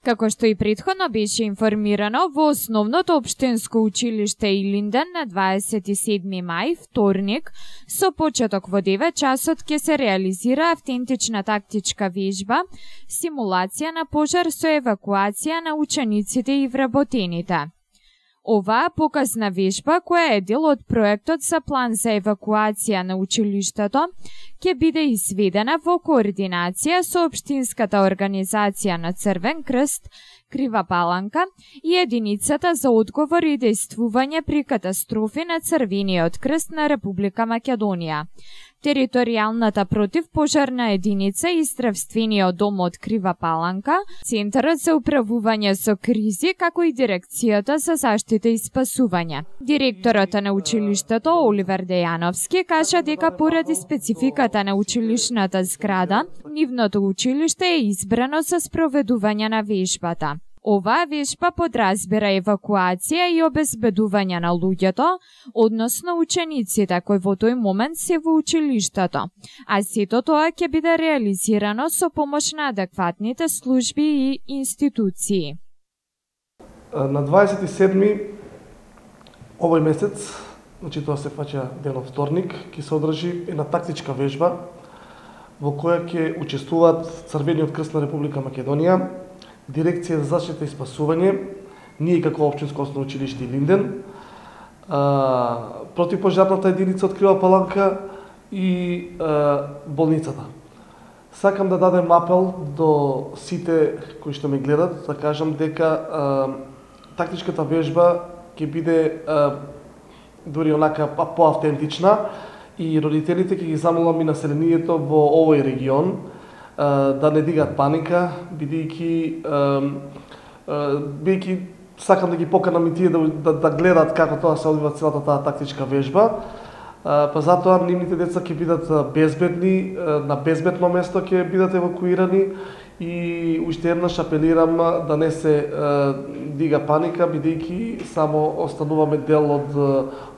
Како што и претходно беше информирано, во основното општинско училиште Илинден на 27 мај, вторник, со почеток во 9 часот ќе се реализира автентична тактичка вежба, симулација на пожар со евакуација на учениците и вработените. Оваа показна вежба, која е дел од проектот за план за евакуација на училиштето, ќе биде изведена во координација со Општинската организација на Црвен крст, Крива Паланка и Единицата за одговор и дејствување при катастрофи на Црвениот крст на Република Македонија. Територијалната противпожарна единица и здравствениот дом од Крива Паланка, Центарот за управување со кризи, како и Дирекцијата за заштита и спасување. Директорот на училиштето Оливер Дејановски кажа дека поради спецификата на училишната зграда, нивното училиште е избрано за спроведување на вежбата. Оваа вежба подразбира евакуација и обезбедување на луѓето, односно учениците кои во тој момент се во училиштето, а сето тоа ќе биде реализирано со помош на адекватните служби и институции. На 27 овој месец, значи тоа се фаќа денот вторник, ќе се одржи една тактичка вежба во која ќе учествуваат Црвениот крст на Република Македонија, Дирекција за заштита и спасување, ние како општинско основно училиште Илинден, противпожарната единица од Крива Паланка и болницата. Сакам да дадем апел до сите кои што ме гледат, да кажам дека тактичката вежба ќе биде дури онака поавтентична и родителите ќе ги замолам и населението во овој регион да не дигаат паника, бидејќи сакам да ги поканам и тие да гледаат како тоа се одвива целата таа тактичка вежба. Па затоа нивните деца ќе бидат безбедни, на безбедно место ќе бидат евакуирани и уште еднаш апелирам да не се дига паника, бидејќи само остануваме дел од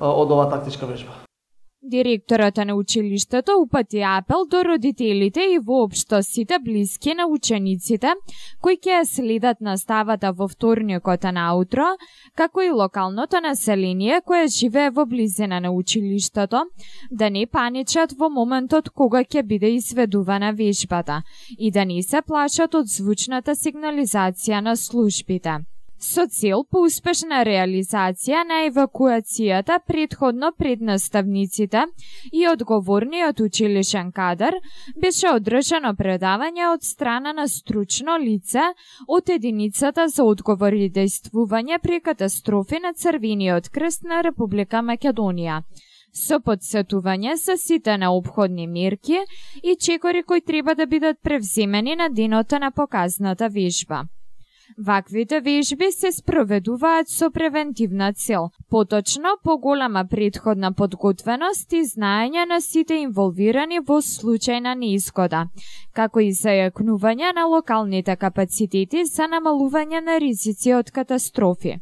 оваа тактичка вежба. Директорот на училиштето упати апел до родителите и воопшто сите блиски на учениците кои ќе следат наставата во вторникот наутро, како и локалното население кое живее во близина на училиштето, да не паничат во моментот кога ќе биде изведувана вежбата и да не се плашат од звучната сигнализација на службите. Со цел по успешна реализација на евакуацијата претходно пред наставниците и одговорниот училишен кадар беше одржано предавање од страна на стручно лице од Единицата за одговор и дејствување при катастрофи на Црвениот крст на Република Македонија, со подсетување за сите неопходни мерки и чекори кои треба да бидат превземени на денот на показната вежба. Ваквите вежби се спроведуваат со превентивна цел, поточно поголема претходна подготвеност и знаење на сите инволвирани во случај на неизгода, како и зајакнување на локалните капацитети за намалување на ризици од катастрофи.